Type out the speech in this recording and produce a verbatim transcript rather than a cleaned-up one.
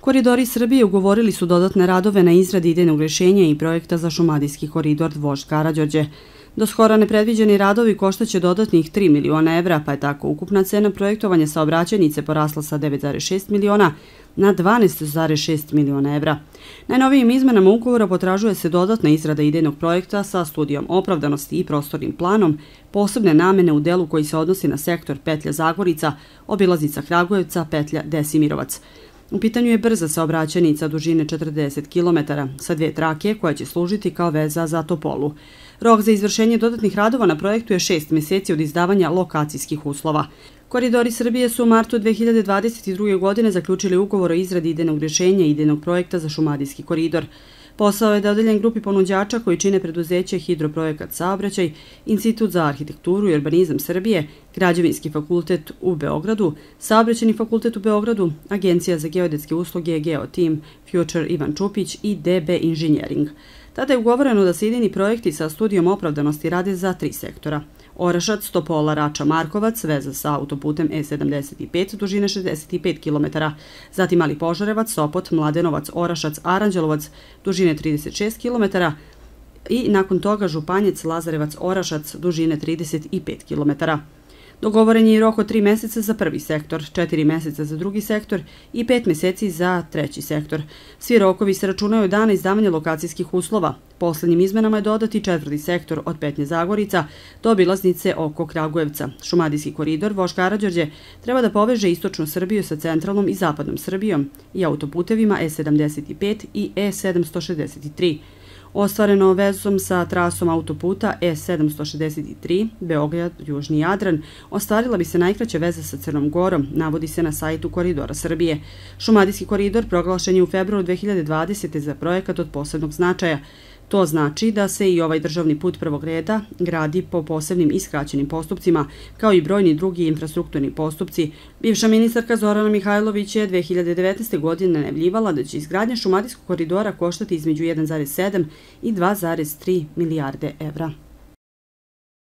Koridori Srbije ugovorili su dodatne radove na izradi idejnog rješenja i projekta za Šumadijski koridor Vožd Karađorđe. Do skora nepredviđeni radovi koštaće dodatnih tri miliona evra, pa je tako ukupna cena projektovanja saobraćajnice porasla sa devet zarez šest miliona na dvanaest zarez šest miliona evra. Najnovijim izmenama ugovora potražuje se dodatna izrada idejnog projekta sa studijom opravdanosti i prostornim planom, posebne namene u delu koji se odnosi na sektor petlja Zagorica, obilaznica Kragujevca, petlja Desimirovac. U pitanju je brza saobraćajnica dužine četrdeset kilometara sa dvije trake koja će služiti kao veza za Topolu. Rok za izvršenje dodatnih radova na projektu je šest mjeseci od izdavanja lokacijskih uslova. Koridori Srbije su u martu dve hiljade dvadeset druge. godine zaključili ugovor o izradi idejnog rješenja i idejnog projekta za Šumadijski koridor. Posao je dodeljen grupi ponuđača koji čine preduzeće Hidroprojekat Saobraćaj, Institut za arhitekturu i urbanizam Srbije, Građevinski fakultet u Beogradu, Saobraćajni fakultet u Beogradu, Agencija za geodetske usluge Geoteam, Future Ivan Čupić i D B Engineering. Tada je ugovoreno da se idejni projekti sa studijom opravdanosti rade za tri sektora. Orašac, Topola, Rača, Markovac, veza sa autoputem E sedamdeset pet, dužine šezdeset pet kilometara, zatim Mali Požarevac, Sopot, Mladenovac, Orašac, Aranđelovac, dužine trideset šest kilometara i nakon toga Županjec, Lazarevac, Orašac, dužine trideset pet kilometara. Dogovoren je i rok od tri mjeseca za prvi sektor, četiri mjeseca za drugi sektor i pet mjeseci za treći sektor. Svi rokovi se računaju od dana izdavanja lokacijskih uslova. Poslednjim izmenama je dodati četvrti sektor od petnje Zagorica do obilaznice oko Kragujevca. Šumadijski koridor Vožd Karađorđe treba da poveže istočnu Srbiju sa centralnom i zapadnom Srbijom i autoputevima E sedamdeset pet i E sedamsto šezdeset tri. Ostvareno vezom sa trasom autoputa E sedamsto šezdeset tri, Beograd-Južni Jadran, ostvarila bi se najkraća veza sa Crnom Gorom, navodi se na sajtu Koridora Srbije. Šumadijski koridor proglašen je u februaru dve hiljade dvadesete. za projekat od posebnog značaja. To znači da se i ovaj državni put prvog reda gradi po posebnim i skraćenim postupcima, kao i brojni drugi infrastrukturni postupci. Bivša ministarka Zorana Mihajlović je dve hiljade devetnaeste. godine najavljivala da će izgradnja Šumadijskog koridora koštati između jedan zarez sedam i dva zarez tri milijarde evra.